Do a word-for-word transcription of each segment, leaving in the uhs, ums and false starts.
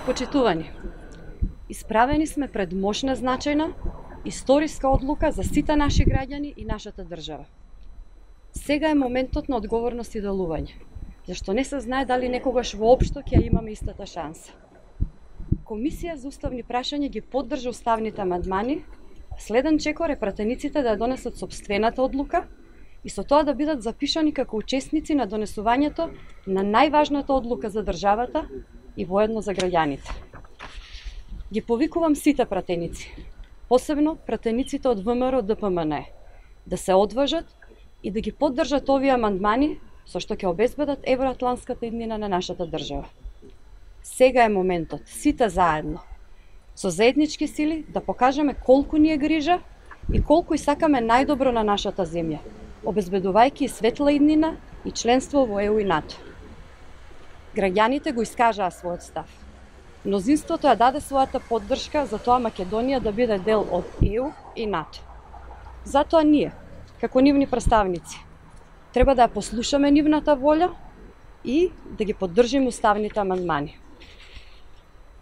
Почитувани, исправени сме пред мощна, значајна, историска одлука за сите наши граѓани и нашата држава. Сега е моментот на одговорност и делување, зашто не се знае дали некогаш воопшто ќе имаме истата шанса. Комисија за уставни прашања ги поддржа уставните амандмани, следен чекор е пратениците да ја донесат сопствената одлука и со тоа да бидат запишани како учесници на донесувањето на најважната одлука за државата и воедно за граѓаните. Ги повикувам сите пратеници, посебно пратениците од ВМРО Д П М Н, да се одважат и да ги поддржат овие амандмани со што ќе обезбедат евроатлантската иднина на нашата држава. Сега е моментот, сите заедно, со заеднички сили да покажеме колку ни е грижа и колку и сакаме најдобро на нашата земја, обезбедувајќи светла иднина и членство во Е У и НАТО. Граѓаните го искажаа својот став. Мнозинството ја даде својата поддршка за тоа Македонија да биде дел од Е У и НАТО. Затоа ние, како нивни представници, треба да ја послушаме нивната волја и да ги поддржиме уставните амандмани.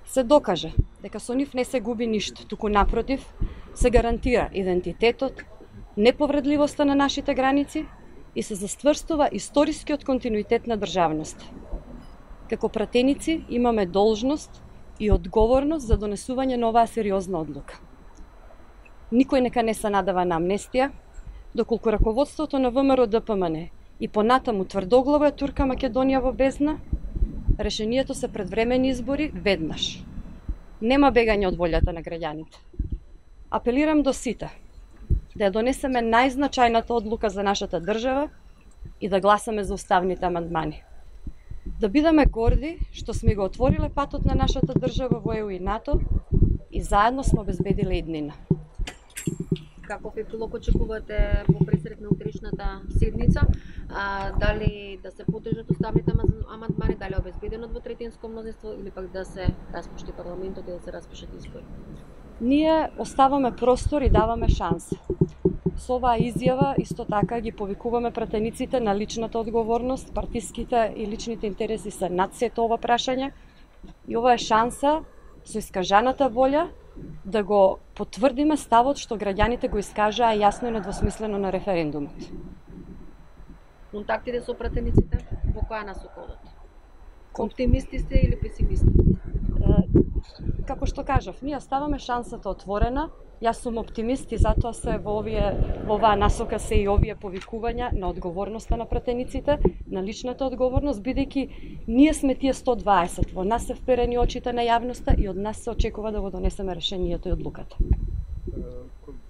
Се докаже дека со нив не се губи ништо, туку напротив, се гарантира идентитетот, неповредливоста на нашите граници и се застврстува историскиот континуитет на државноста. Како пратеници имаме должност и одговорност за донесување на оваа сериозна одлука. Никој нека не се надава на амнестија, доколку раководството на ВМРО Д П М Н и понатаму тврдоглаво ја турка Македонија во бездна, решението се предвремени избори веднаш. Нема бегање од волјата на граѓаните. Апелирам до сите да ја донесеме најзначајната одлука за нашата држава и да гласаме за уставните амандмани. Да бидеме горди што сме го отвориле патот на нашата држава во Е У и НАТО и заедно сме обезбедиле иднина. Каков епилог очекувате во пресред на утришната седница? А, дали да се поддржат уставните амандмани, дали е обезбедено двотретинско мнозинство или пак да се распушти парламентот и да се распишат избори? Ние оставаме простор и даваме шанса. Со оваа изјава исто така ги повикуваме пратениците на личната одговорност, партиските и личните интереси се над сето ова прашање и ова е шанса со искажаната волја да го потврдиме ставот што граѓаните го искажаа јасно и недвосмислено на референдумот. Контактите со пратениците во која насока одат? Оптимисти сте или песимисти? Како што кажав, ние ставаме шансата отворена. Јас сум оптимист и затоа се во овие во оваа насока се и овие повикувања на одговорноста на пратениците, на личната одговорност, бидејќи ние сме тие сто дваесет, во нас се вперени очите на јавноста и од нас се очекува да го донесеме решението и одлуката.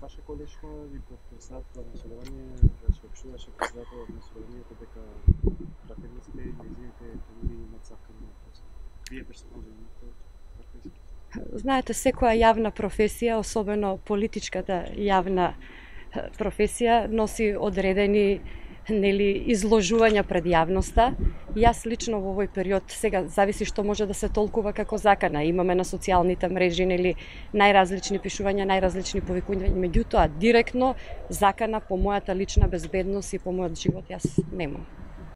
Ваше колешко ви подписател на собрание, ваше обшуваше председател на собранието дека пратениците и нејзините фамилии имаат сакани на пост. Вие персонално имате професија? Знаете, секоја јавна професија, особено политичката јавна професија, носи одредени нели изложувања пред јавноста. Јас лично во овој период, сега зависи што може да се толкува како закана. Имаме на социјалните мрежи нели најразлични пишувања, најразлични повикувања, меѓутоа директно закана по мојата лична безбедност и по мојот живот јас немам.